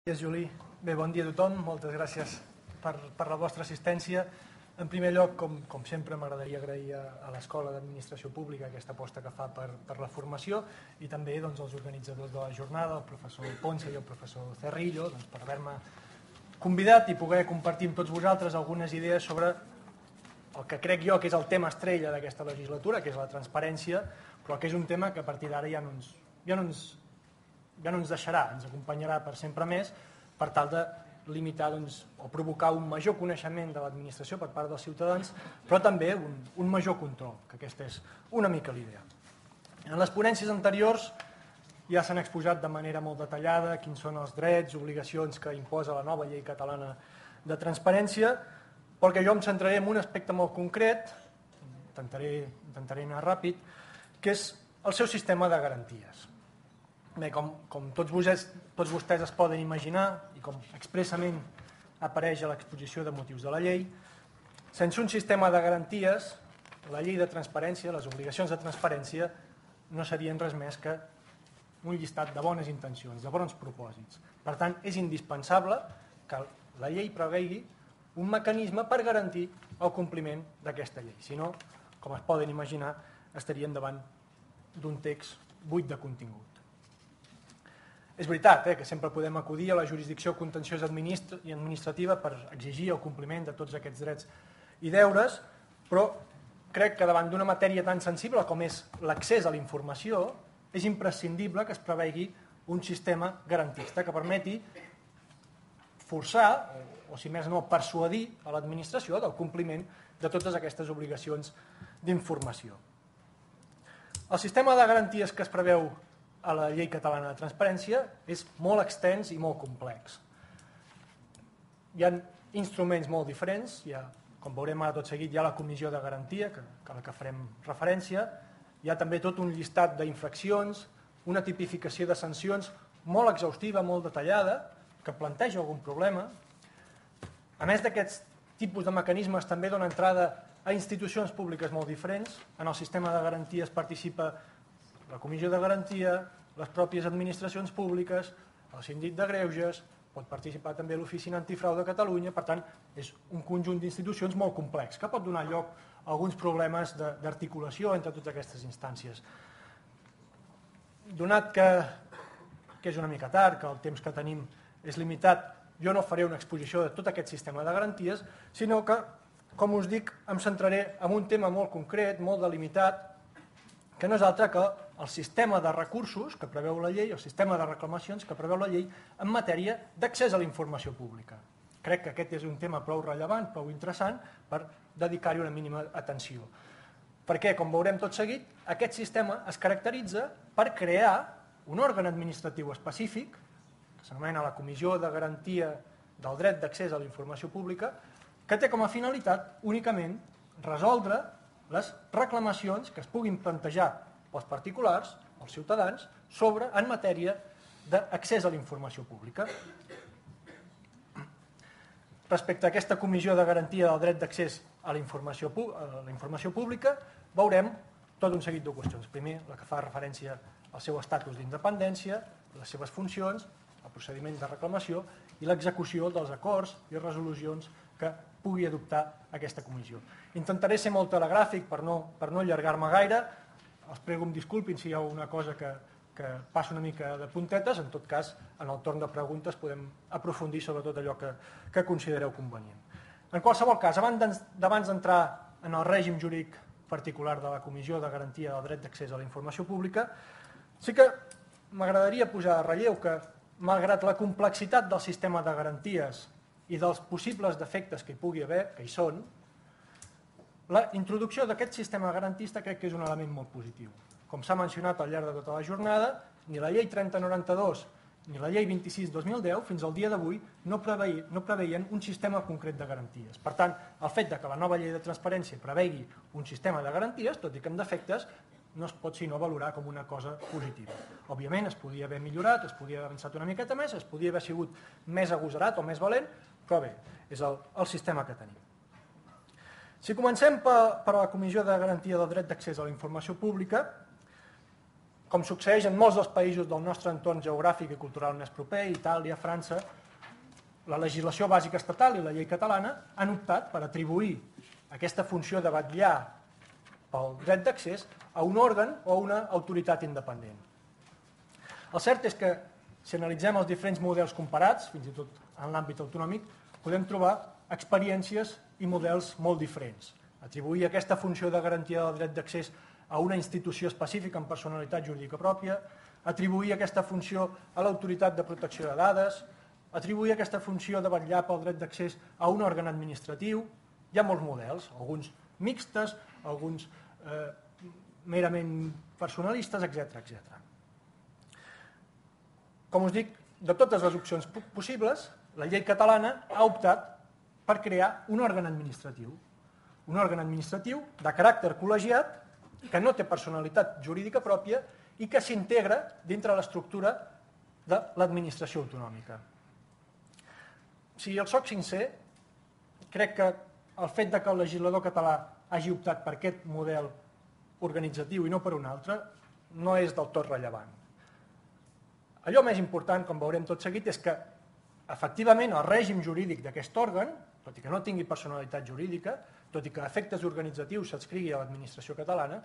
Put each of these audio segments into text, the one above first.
Gràcies, Juli. Bé, bon dia a tothom. Moltes gràcies per la vostra assistència. En primer lloc, com sempre, m'agradaria agrair a l'Escola d'Administració Pública aquesta aposta que fa per la formació i també als organitzadors de la jornada, el professor Ponce i el professor Cerrillo, per haver-me convidat i poder compartir amb tots vosaltres algunes idees sobre el que crec jo que és el tema estrella d'aquesta legislatura, que és la transparència, però que és un tema que a partir d'ara ja no ens deixarà, ens acompanyarà per sempre més, per tal de limitar o provocar un major coneixement de l'administració per part dels ciutadans, però també un major control, que aquesta és una mica l'idea. En les ponències anteriors ja s'han exposat de manera molt detallada quins són els drets, obligacions que imposa la nova llei catalana de transparència, perquè jo em centraré en un aspecte molt concret, intentaré anar ràpid, que és el seu sistema de garanties. Bé, com tots vostès es poden imaginar i com expressament apareix a l'exposició de motius de la llei, sense un sistema de garanties, la llei de transparència, les obligacions de transparència, no serien res més que un llistat de bones intencions, de bons propòsits. Per tant, és indispensable que la llei prevegi un mecanisme per garantir el compliment d'aquesta llei. Si no, com es poden imaginar, estaríem davant d'un text buit de contingut. És veritat que sempre podem acudir a la jurisdicció contenciosa i administrativa per exigir el compliment de tots aquests drets i deures, però crec que davant d'una matèria tan sensible com és l'accés a la informació, és imprescindible que es prevegi un sistema garantista que permeti forçar, o si més no, persuadir a l'administració del compliment de totes aquestes obligacions d'informació. El sistema de garanties que es preveu a la llei catalana de transparència és molt extens i molt complex. Hi ha instruments molt diferents, com veurem ara tot seguit, hi ha la comissió de garantia, a la que farem referència, hi ha també tot un llistat d'infraccions, una tipificació de sancions molt exhaustiva, molt detallada, que planteja algun problema. A més d'aquests tipus de mecanismes també dona entrada a institucions públiques molt diferents. En el sistema de garanties participa la comissió de garantia, les pròpies administracions públiques, el síndic de greuges, pot participar també l'Oficina Antifrau de Catalunya, per tant, és un conjunt d'institucions molt complex, que pot donar lloc a alguns problemes d'articulació entre totes aquestes instàncies. Donat que és una mica tard, que el temps que tenim és limitat, jo no faré una exposició de tot aquest sistema de garanties, sinó que, com us dic, em centraré en un tema molt concret, molt delimitat, que no és altre que el sistema de recursos que preveu la llei, el sistema de reclamacions que preveu la llei en matèria d'accés a la informació pública. Crec que aquest és un tema prou rellevant, prou interessant, per dedicar-hi una mínima atenció. Perquè, com veurem tot seguit, aquest sistema es caracteritza per crear un òrgan administratiu específic, que s'anomena la Comissió de Garantia del Dret d'Accés a la Informació Pública, que té com a finalitat únicament resoldre les reclamacions que es puguin plantejar pels particulars, els ciutadans, en matèria d'accés a la informació pública. Respecte a aquesta Comissió de Garantia del Dret d'Accés a la Informació Pública, veurem tot un seguit de qüestions. Primer, la que fa referència al seu estatus d'independència, les seves funcions, el procediment de reclamació i l'execució dels acords i resolucions que pugui adoptar aquesta comissió. Intentaré ser molt telegràfic per no allargar-me gaire. Els prego em disculpin si hi ha una cosa que passa una mica de puntetes. En tot cas, en el torn de preguntes podem aprofundir sobre tot allò que considereu convenient. En qualsevol cas, abans d'entrar en el règim jurídic particular de la Comissió de Garantia del Dret d'Accés a la Informació Pública, sí que m'agradaria posar en relleu que, malgrat la complexitat del sistema de garanties i dels possibles defectes que hi pugui haver, que hi són, la introducció d'aquest sistema garantista crec que és un element molt positiu. Com s'ha mencionat al llarg de tota la jornada, ni la llei 3092 ni la llei 26/2010 fins al dia d'avui no preveien un sistema concret de garanties. Per tant, el fet que la nova llei de transparència prevegi un sistema de garanties, tot i que amb defectes, no es pot sinó valorar com una cosa positiva. Òbviament es podia haver millorat, es podia haver avançat una miqueta més, es podia haver sigut més agosarat o més valent, però bé, és el sistema que tenim. Si comencem per la Comissió de Garantia del Dret d'Accés a la Informació Pública, Com succeeix en molts dels països del nostre entorn geogràfic i cultural més proper, Itàlia, França, la legislació bàsica estatal i la llei catalana han optat per atribuir aquesta funció de vetllar pel dret d'accés a un òrgan o a una autoritat independent. El cert és que, si analitzem els diferents models comparats, fins i tot en l'àmbit autonòmic, podem trobar experiències i models molt diferents. Atribuir aquesta funció de garantia del dret d'accés a una institució específica amb personalitat jurídica pròpia, atribuir aquesta funció a l'autoritat de protecció de dades, atribuir aquesta funció de vetllar pel dret d'accés a un òrgan administratiu. Hi ha molts models, alguns mixtes, alguns merament personalistes, etc. Com us dic, de totes les opcions possibles, la llei catalana ha optat per crear un òrgan administratiu de caràcter col·legiat que no té personalitat jurídica pròpia i que s'integra dintre l'estructura de l'administració autonòmica. Si el soc sincer, crec que el fet que el legislador català hagi optat per aquest model organitzatiu i no per un altre no és del tot rellevant. Allò més important, com veurem tot seguit, és que efectivament el règim jurídic d'aquest òrgan, tot i que no tingui personalitat jurídica, tot i que a efectes organitzatius s'adscrigui a l'administració catalana,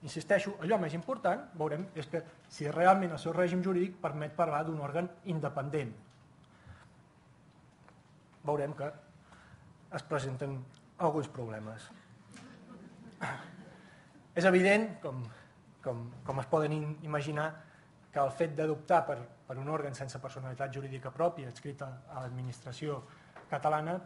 insisteixo, allò més important, veurem, és que si realment el seu règim jurídic permet parlar d'un òrgan independent. Veurem que es presenten alguns problemes. És evident, com es poden imaginar, que el fet d'adoptar per un òrgan sense personalitat jurídica pròpia adscrita a l'administració catalana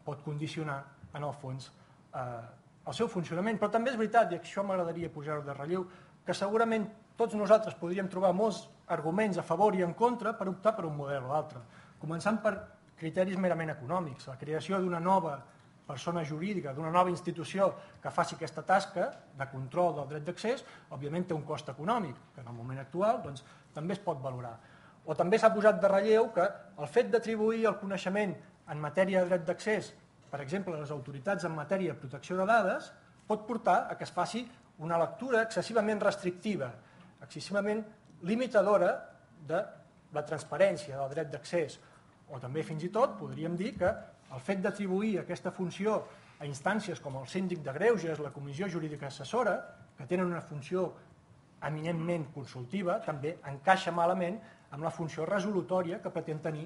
pot condicionar, en el fons, el seu funcionament. Però també és veritat, i això m'agradaria posar-ho de relleu, que segurament tots nosaltres podríem trobar molts arguments a favor i en contra per optar per un model o l'altre, començant per criteris merament econòmics. La creació d'una nova persona jurídica, d'una nova institució que faci aquesta tasca de control del dret d'accés, òbviament té un cost econòmic, que en el moment actual també es pot valorar. O també s'ha posat de relleu que el fet d'atribuir el coneixement en matèria de dret d'accés, per exemple, a les autoritats en matèria de protecció de dades, pot portar a que es faci una lectura excessivament restrictiva, excessivament limitadora de la transparència del dret d'accés. O també, fins i tot, podríem dir que el fet d'atribuir aquesta funció a instàncies com el síndic de greuges, la comissió jurídica assessora, que tenen una funció eminentment consultiva, també encaixa malament amb la funció resolutòria que pretén tenir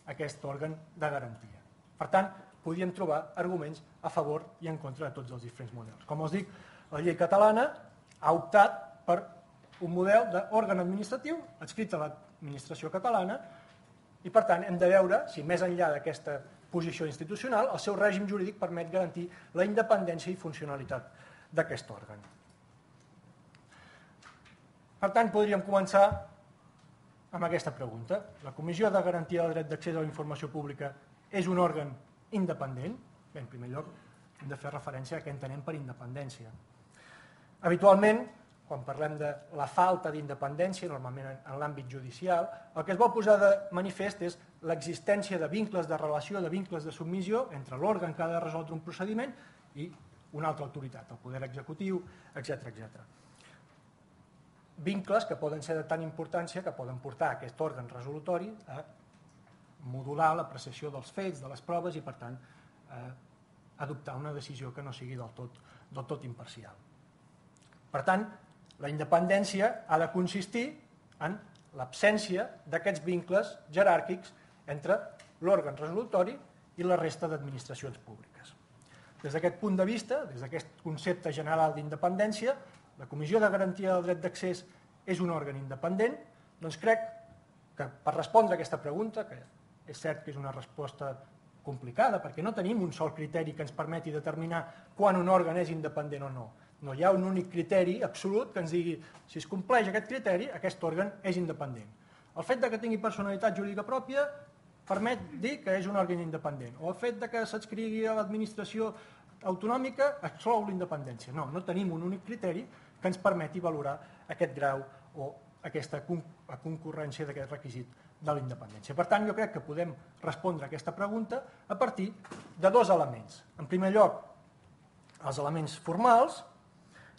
aquest òrgan de garantia. Per tant, podríem trobar arguments a favor i en contra de tots els diferents models. Com us dic, la llei catalana ha optat per un model d'òrgan administratiu adscrit a l'administració catalana i, per tant, hem de veure si més enllà d'aquesta posició institucional el seu règim jurídic permet garantir la independència i funcionalitat d'aquest òrgan. Per tant, podríem començar amb aquesta pregunta. La Comissió de Garantia del Dret d'Accés a la Informació Pública és un òrgan independent? Bé, en primer lloc, hem de fer referència a què entenem per independència. Habitualment, quan parlem de la falta d'independència, normalment en l'àmbit judicial, el que es vol posar de manifest és l'existència de vincles de relació, de vincles de submissió entre l'òrgan que ha de resoldre un procediment i una altra autoritat, el poder executiu, etc. Vincles que poden ser de tant importància que poden portar aquest òrgan resolutori a modular l'apreciació dels fets, de les proves i, per tant, adoptar una decisió que no sigui del tot imparcial. Per tant, la independència ha de consistir en l'absència d'aquests vincles jeràrquics entre l'òrgan resolutori i la resta d'administracions públiques. Des d'aquest punt de vista, des d'aquest concepte general d'independència, la Comissió de Garantia del Dret d'Accés és un òrgan independent, doncs crec que per respondre a aquesta pregunta, que és cert que és una resposta complicada, perquè no tenim un sol criteri que ens permeti determinar quan un òrgan és independent o no. No hi ha un únic criteri absolut que ens digui si es compleix aquest criteri, aquest òrgan és independent. El fet que tingui personalitat jurídica pròpia permet dir que és un òrgan independent, o el fet que s'adscrigui a l'administració autonòmica exclou l'independència. No tenim un únic criteri que ens permeti valorar aquest grau o aquesta concurrència d'aquest requisit de la independència. Per tant, jo crec que podem respondre a aquesta pregunta a partir de dos elements. En primer lloc, els elements formals,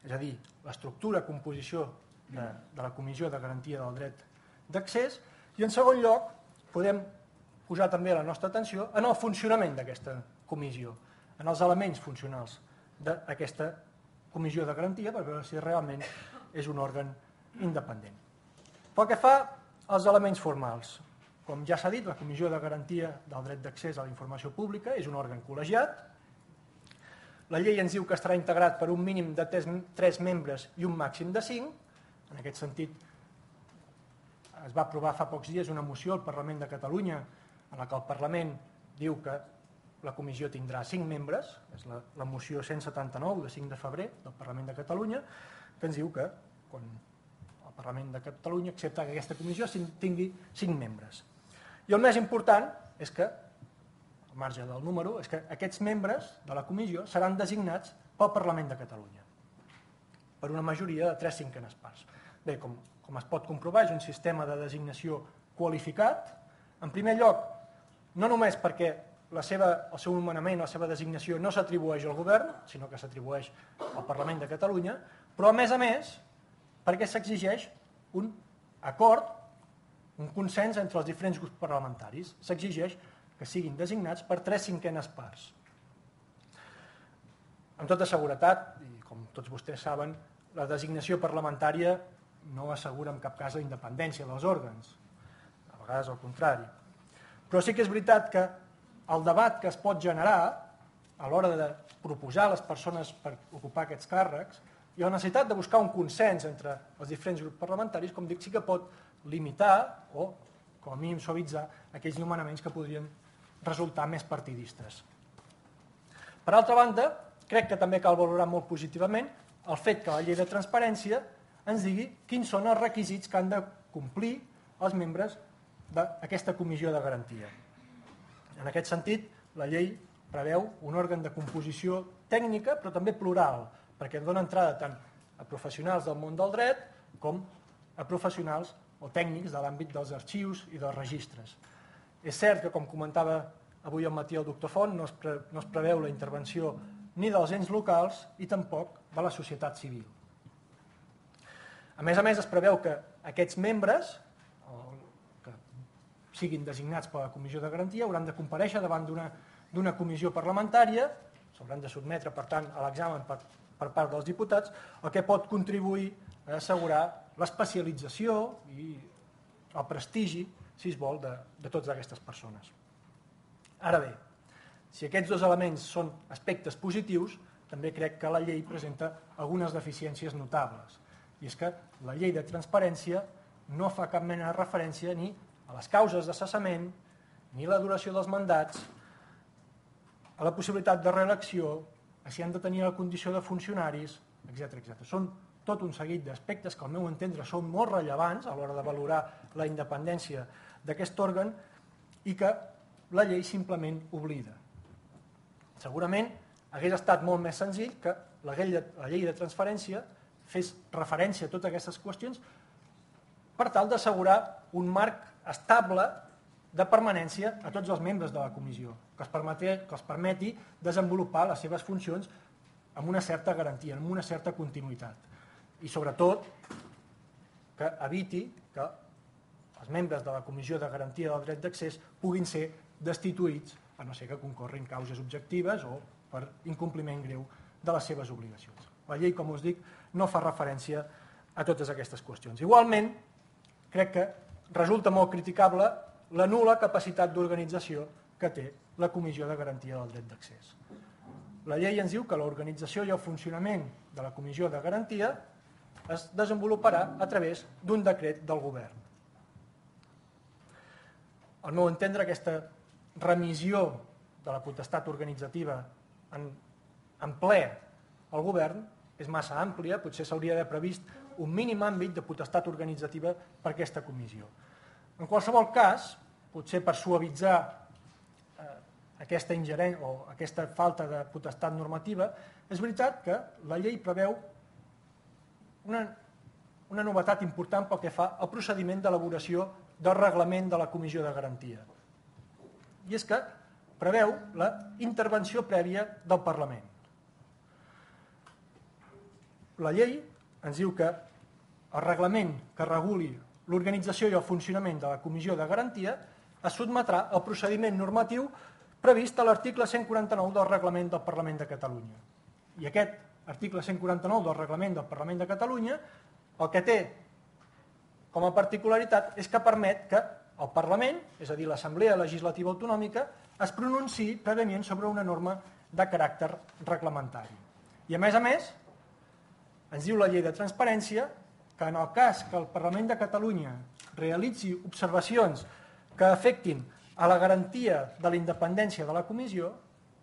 és a dir, l'estructura, composició de la Comissió de Garantia del Dret d'Accés, i en segon lloc podem posar també la nostra atenció en el funcionament d'aquesta comissió, en els elements funcionals d'aquesta comissió de garantia, per veure si realment és un òrgan independent. Pel que fa als elements formals, com ja s'ha dit, la Comissió de Garantia del Dret d'Accés a la Informació Pública és un òrgan col·legiat. La llei ens diu que estarà integrat per un mínim de 3 membres i un màxim de 5. En aquest sentit, es va aprovar fa pocs dies una moció al Parlament de Catalunya en la que el Parlament diu que la comissió tindrà 5 membres, és la moció 179 de 5 de febrer del Parlament de Catalunya, que ens diu que quan el Parlament de Catalunya accepta que aquesta comissió tingui 5 membres. I el més important és que, al marge del número, és que aquests membres de la comissió seran designats pel Parlament de Catalunya per una majoria de 3/5 parts. Bé, com es pot comprovar, és un sistema de designació qualificat. En primer lloc, no només perquè el seu nomenament, la seva designació no s'atribueix al govern, sinó que s'atribueix al Parlament de Catalunya, però a més, perquè s'exigeix un acord, un consens entre els diferents grups parlamentaris. S'exigeix que siguin designats per 3/5 parts. Amb tota seguretat, i com tots vostès saben, la designació parlamentària no assegura en cap cas la independència dels òrgans, a vegades al contrari. Però sí que és veritat que el debat que es pot generar a l'hora de proposar les persones per ocupar aquests càrrecs i la necessitat de buscar un consens entre els diferents grups parlamentaris, com dic, sí que pot limitar o, com a mínim, suavitzar aquells nomenaments que podrien resultar més partidistes. Per altra banda, crec que també cal valorar molt positivament el fet que la llei de transparència ens digui quins són els requisits que han de complir els membres d'aquesta comissió de garantia. En aquest sentit, la llei preveu un òrgan de composició tècnica, però també plural, perquè dona entrada tant a professionals del món del dret com a professionals o tècnics de l'àmbit dels arxius i dels registres. És cert que, com comentava avui al matí el doctor Font, no es preveu la intervenció ni dels ens locals i tampoc de la societat civil. A més, es preveu que aquests membres que siguin designats per la Comissió de Garantia hauran de comparèixer davant d'una comissió parlamentària, s'hauran de sotmetre, per tant, a l'examen per part dels diputats, el que pot contribuir a assegurar l'especialització i el prestigi, si es vol, de totes aquestes persones. Ara bé, si aquests dos elements són aspectes positius, també crec que la llei presenta algunes deficiències notables. I és que la llei de transparència no fa cap mena de referència ni a les causes de cessament, ni a la duració dels mandats, a la possibilitat de reelecció, a si han de tenir la condició de funcionaris, etc. Són tot un seguit d'aspectes que al meu entendre són molt rellevants a l'hora de valorar la independència d'aquest òrgan i que la llei simplement oblida. Segurament hagués estat molt més senzill que la llei de transparència fes referència a totes aquestes qüestions per tal d'assegurar un marc estable de permanència a tots els membres de la comissió, que els permeti desenvolupar les seves funcions amb una certa garantia, amb una certa continuïtat. I sobretot que eviti que els membres de la Comissió de Garantia del Dret d'Accés puguin ser destituïts, a no ser que concorrin causes objectives o per incompliment greu de les seves obligacions. La llei, com us dic, no fa referència a totes aquestes qüestions. Igualment, crec que resulta molt criticable la nul·la capacitat d'organització que té la Comissió de Garantia del Dret d'Accés. La llei ens diu que l'organització i el funcionament de la Comissió de Garantia es desenvoluparà a través d'un decret del govern. Al meu entendre, aquesta remissió de la potestat organitzativa en ple al govern és massa àmplia, potser s'hauria d'haver previst un mínim àmbit de potestat organitzativa per aquesta comissió. En qualsevol cas, potser per suavitzar aquesta ingerència o aquesta falta de potestat normativa, és veritat que la llei preveu una novetat important pel que fa al procediment d'elaboració del reglament de la Comissió de Garantia. I és que preveu la intervenció prèvia del Parlament. La llei ens diu que el reglament que reguli l'organització i el funcionament de la Comissió de Garantia es sotmetrà al procediment normatiu previst a l'article 149 del Reglament del Parlament de Catalunya. I aquest article 149 del Reglament del Parlament de Catalunya el que té com a particularitat és que permet que el Parlament, és a dir, l'Assemblea Legislativa Autonòmica, es pronunciï prèviament sobre una norma de caràcter reglamentari. I a més, ens diu la llei de transparència que en el cas que el Parlament de Catalunya realitzi observacions que afectin a la garantia de la independència de la Comissió,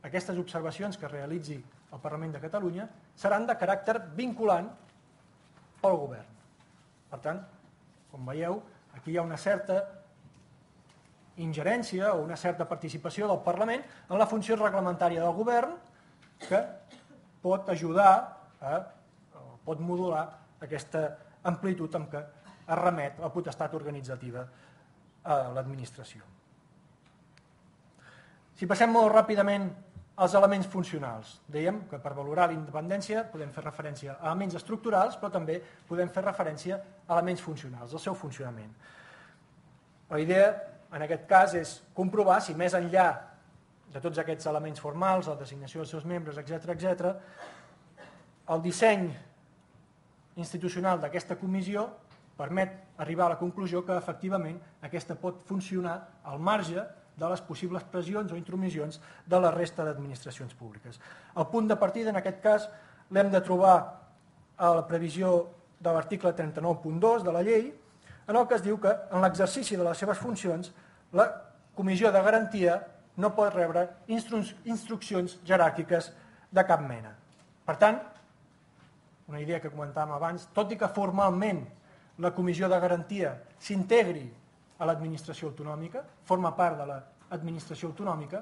aquestes observacions que realitzi el Parlament de Catalunya seran de caràcter vinculant pel govern. Per tant, com veieu, aquí hi ha una certa ingerència o una certa participació del Parlament en la funció reglamentària del govern que pot ajudar pot modular aquesta amplitud amb què es remet la potestat organitzativa a l'administració. Si passem molt ràpidament als elements funcionals, dèiem que per valorar la independència podem fer referència a elements estructurals, però també podem fer referència a elements funcionals, al seu funcionament. La idea, en aquest cas, és comprovar si més enllà de tots aquests elements formals, la designació dels seus membres, etc., el disseny institucional d'aquesta comissió permet arribar a la conclusió que efectivament aquesta pot funcionar al marge de les possibles pressions o intromissions de la resta d'administracions públiques. El punt de partida, en aquest cas, l'hem de trobar a la previsió de l'article 39.2 de la llei, en el que es diu que en l'exercici de les seves funcions la Comissió de Garantia no pot rebre instruccions jeràrquiques de cap mena. Per tant, una idea que comentàvem abans, tot i que formalment la Comissió de Garantia s'integri a l'administració autonòmica, forma part de l'administració autonòmica,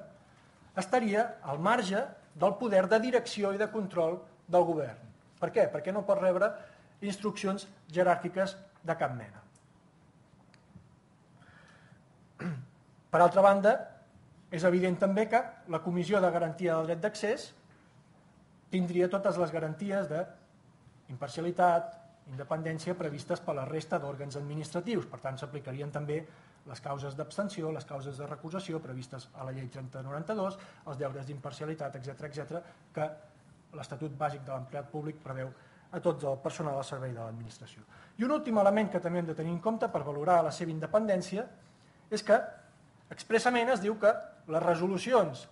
estaria al marge del poder de direcció i de control del govern. Per què? Perquè no pot rebre instruccions jeràrquiques de cap mena. Per altra banda, és evident també que la Comissió de Garantia del Dret d'Accés tindria totes les garanties d'imparcialitat, independència previstes per la resta d'òrgans administratius. Per tant, s'aplicarien també les causes d'abstenció, les causes de recusació previstes a la llei 3092, els deures d'imparcialitat, etc., que l'Estatut Bàsic de l'Empleat Públic preveu a tot el personal al servei de l'administració. I un últim element que també hem de tenir en compte per valorar la seva independència és que expressament es diu que les resolucions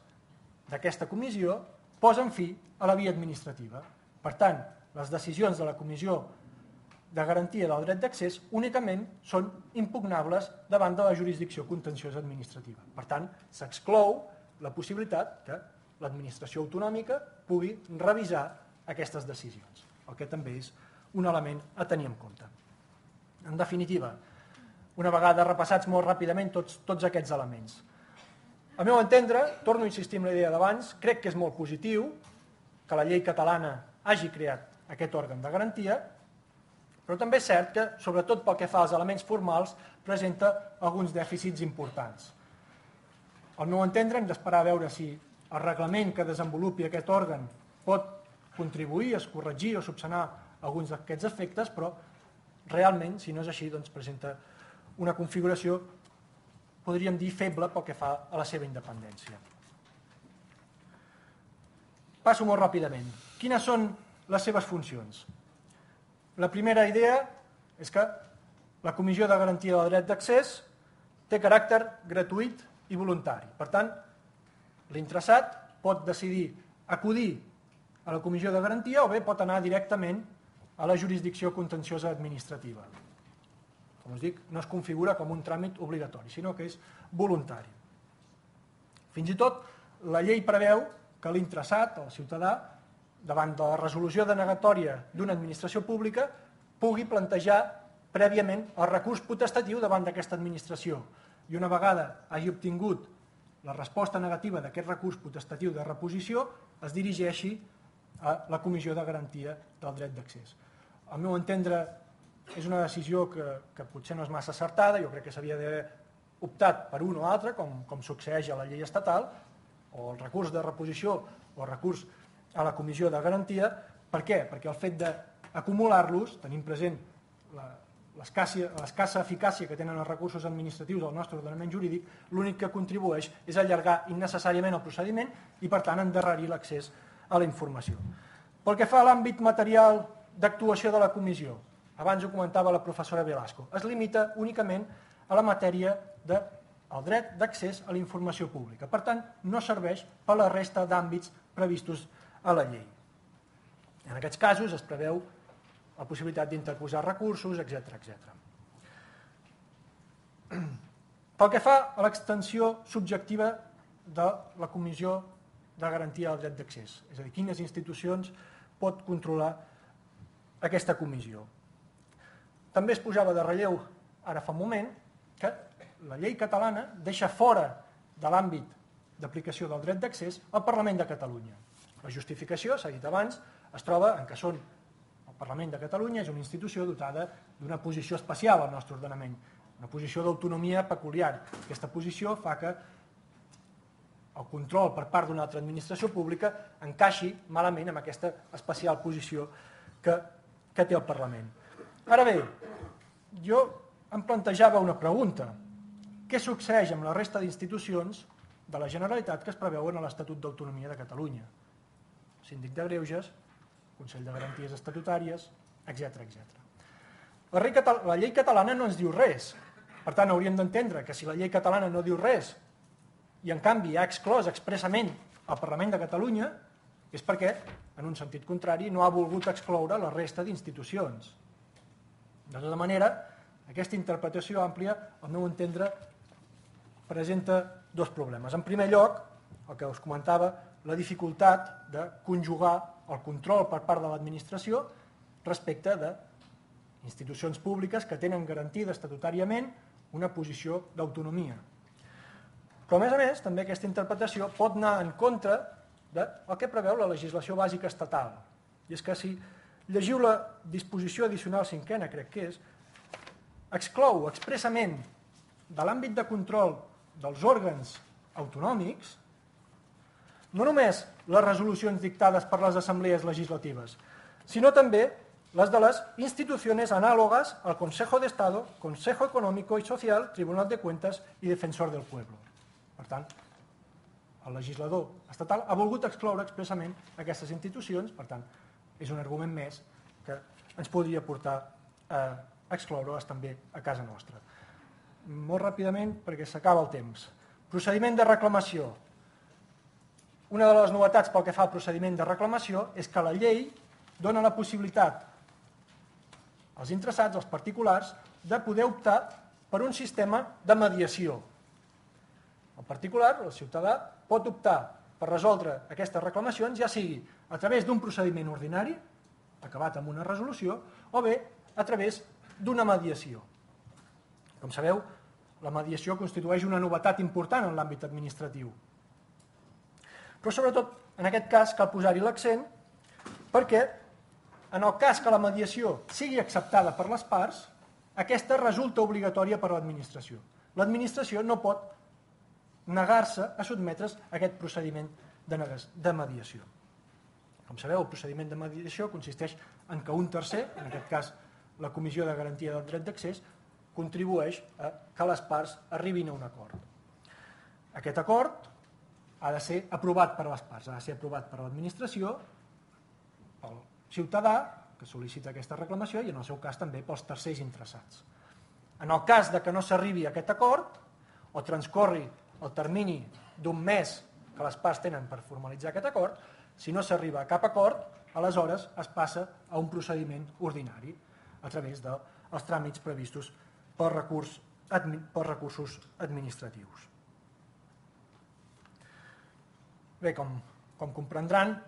d'aquesta comissió posen fi a la via administrativa. Per tant, les decisions de la Comissió de Garantia del Dret d'Accés únicament són impugnables davant de la jurisdicció contenciosa administrativa. Per tant, s'exclou la possibilitat que l'administració autonòmica pugui revisar aquestes decisions, el que també és un element a tenir en compte. En definitiva, una vegada repassats molt ràpidament tots aquests elements. Al meu entendre, torno a insistir en la idea d'abans, crec que és molt positiu que la llei catalana hagi creat aquest òrgan de garantia, però també és cert que, sobretot pel que fa als elements formals, presenta alguns dèficits importants. Al meu entendre, hem d'esperar a veure si el reglament que desenvolupi aquest òrgan pot contribuir a corregir o subsanar alguns d'aquests efectes, però realment, si no és així, doncs presenta una configuració, podríem dir, feble pel que fa a la seva independència. Passo molt ràpidament. Quines són les seves funcions? La primera idea és que la Comissió de Garantia del Dret d'Accés té caràcter gratuït i voluntari. Per tant, l'interessat pot decidir acudir a la Comissió de Garantia o bé pot anar directament a la jurisdicció contenciosa administrativa. Com us dic, no es configura com un tràmit obligatori, sinó que és voluntari. Fins i tot, la llei preveu que l'interessat, el ciutadà, davant de la resolució denegatòria d'una administració pública, pugui plantejar prèviament el recurs potestatiu davant d'aquesta administració. I una vegada hagi obtingut la resposta negativa d'aquest recurs potestatiu de reposició, es dirigeixi a la Comissió de Garantia del Dret d'Accés. Al meu entendre, és una decisió que potser no és massa acertada, jo crec que s'havia d'haver optat per un o altre, com succeeix a la llei estatal, o el recurs de reposició o el recurs a la Comissió de Garantia. Per què? Perquè el fet d'acumular-los, tenint present l'escassa eficàcia que tenen els recursos administratius del nostre ordenament jurídic, l'únic que contribueix és allargar innecessàriament el procediment i, per tant, endarrerir l'accés a la informació. Pel que fa a l'àmbit material d'actuació de la comissió, abans ho comentava la professora Velasco, es limita únicament a la matèria del dret d'accés a la informació pública. Per tant, no serveix per a la resta d'àmbits previstos a la llei. En aquests casos es preveu la possibilitat d'interposar recursos, etc. Pel que fa a l'extensió subjectiva de la Comissió de Garantia del Dret d'Accés, és a dir, quines institucions pot controlar aquesta comissió. També es posava de relleu ara fa un moment que la llei catalana deixa fora de l'àmbit d'aplicació del dret d'accés al Parlament de Catalunya. La justificació, s'ha dit abans, es troba en que el Parlament de Catalunya és una institució dotada d'una posició especial al nostre ordenament, una posició d'autonomia peculiar. Aquesta posició fa que el control per part d'una altra administració pública encaixi malament amb aquesta especial posició que té el Parlament. Ara bé, jo em plantejava una pregunta. Què succeeix amb la resta d'institucions de la Generalitat que es preveuen a l'Estatut d'Autonomia de Catalunya? Síndic de Greuges, Consell de Garanties Estatutàries, etc. La llei catalana no ens diu res. Per tant, hauríem d'entendre que si la llei catalana no diu res i, en canvi, ha exclòs expressament el Parlament de Catalunya, és perquè, en un sentit contrari, no ha volgut excloure la resta d'institucions. De tota manera, aquesta interpretació àmplia, al meu entendre, presenta dos problemes. En primer lloc, el que us comentava, la dificultat de conjugar el control per part de l'administració respecte d'institucions públiques que tenen garantida estatutàriament una posició d'autonomia. Però, a més, també aquesta interpretació pot anar en contra del que preveu la legislació bàsica estatal. I és que si llegiu la disposició addicional cinquena, crec que és, exclou expressament de l'àmbit de control dels òrgans autonòmics no només les resolucions dictades per les assemblees legislatives, sinó també les de les instituciones análogas al Consejo de Estado, Consejo Económico y Social, Tribunal de Cuentas i Defensor del Pueblo. Per tant, el legislador estatal ha volgut excloure expressament aquestes institucions, per tant, és un argument més que ens podria portar a excloure-les també a casa nostra. Molt ràpidament, perquè s'acaba el temps. Procediment de reclamació. Una de les novetats pel que fa al procediment de reclamació és que la llei dona la possibilitat als interessats, als particulars, de poder optar per un sistema de mediació. El particular, el ciutadà, pot optar per resoldre aquestes reclamacions, ja sigui a través d'un procediment ordinari, acabat amb una resolució, o bé a través d'una mediació. Com sabeu, la mediació constitueix una novetat important en l'àmbit administratiu. Però sobretot, en aquest cas, cal posar-hi l'accent perquè, en el cas que la mediació sigui acceptada per les parts, aquesta resulta obligatòria per a l'administració. L'administració no pot negar-se a sotmetre's a aquest procediment de mediació. Com sabeu, el procediment de mediació consisteix en que un tercer, en aquest cas la Comissió de Garantia del Dret d'Accés, contribueix a que les parts arribin a un acord. Aquest acord ha de ser aprovat per les parts, ha de ser aprovat per l'administració, pel ciutadà que sol·licita aquesta reclamació i en el seu cas també pels tercers interessats. En el cas de que no s'arribi a aquest acord o transcorri el termini d'un mes que les parts tenen per formalitzar aquest acord, si no s'arriba a cap acord, aleshores es passa a un procediment ordinari a través dels tràmits previstos per recursos administratius. Bé, com comprendran,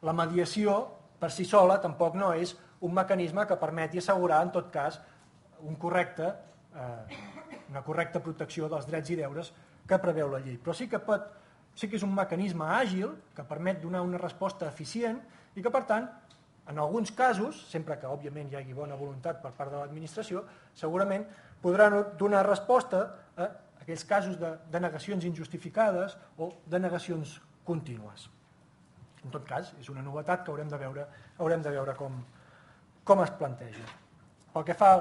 la mediació per si sola tampoc no és un mecanisme que permeti assegurar, en tot cas, una correcta protecció dels drets i deures que preveu la llei. Però sí que és un mecanisme àgil que permet donar una resposta eficient i que, per tant, en alguns casos, sempre que, òbviament, hi hagi bona voluntat per part de l'administració, segurament podrà donar resposta a aquells casos de denegacions injustificades o denegacions contínues. En tot cas, és una novetat que haurem de veure com es planteja. Pel que fa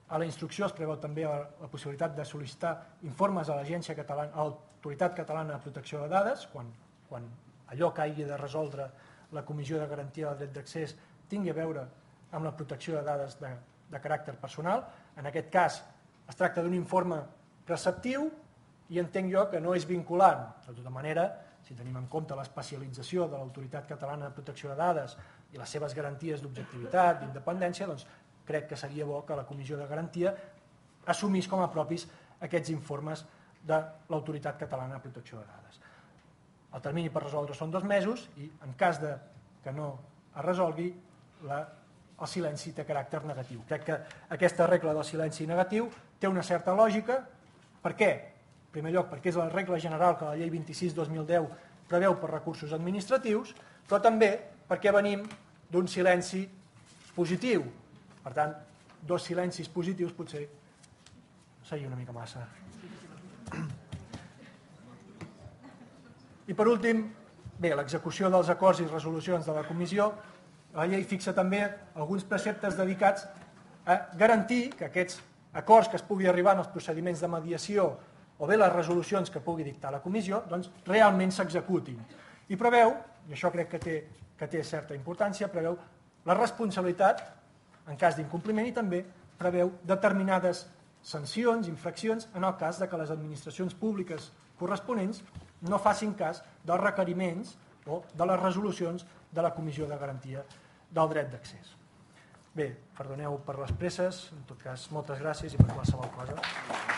a la instrucció, es preveu també la possibilitat de sol·licitar informes a l'Autoritat Catalana de Protecció de Dades quan allò que hagi de resoldre la Comissió de Garantia del Dret d'Accés tingui a veure amb la protecció de dades de caràcter personal. En aquest cas es tracta d'un informe preceptiu i entenc jo que no és vinculant. De tota manera, si tenim en compte l'especialització de l'Autoritat Catalana de Protecció de Dades i les seves garanties d'objectivitat, d'independència, doncs crec que seria bo que la Comissió de Garantia assumís com a propis aquests informes de l'Autoritat Catalana de Protecció de Dades. El termini per resoldre són 2 mesos i en cas que no es resolgui, el silenci té caràcter negatiu. Crec que aquesta regla del silenci negatiu té una certa lògica. Per què? En primer lloc, perquè és la regla general que la llei 26/2010 preveu per recursos administratius, però també perquè venim d'un silenci positiu. Per tant, 2 silencis positius potser seria una mica massa. I per últim, bé, l'execució dels acords i resolucions de la comissió. La llei fixa també alguns preceptes dedicats a garantir que aquests acords que es pugui arribar en els procediments de mediació o bé les resolucions que pugui dictar la comissió, doncs realment s'executin. I preveu, i això crec que té certa importància, preveu la responsabilitat en cas d'incompliment i també preveu determinades sancions, infraccions, en el cas que les administracions públiques corresponents no facin cas dels requeriments o de les resolucions de la Comissió de Garantia del Dret d'Accés. Bé, perdoneu per les presses, en tot cas, moltes gràcies i per qualsevol cosa.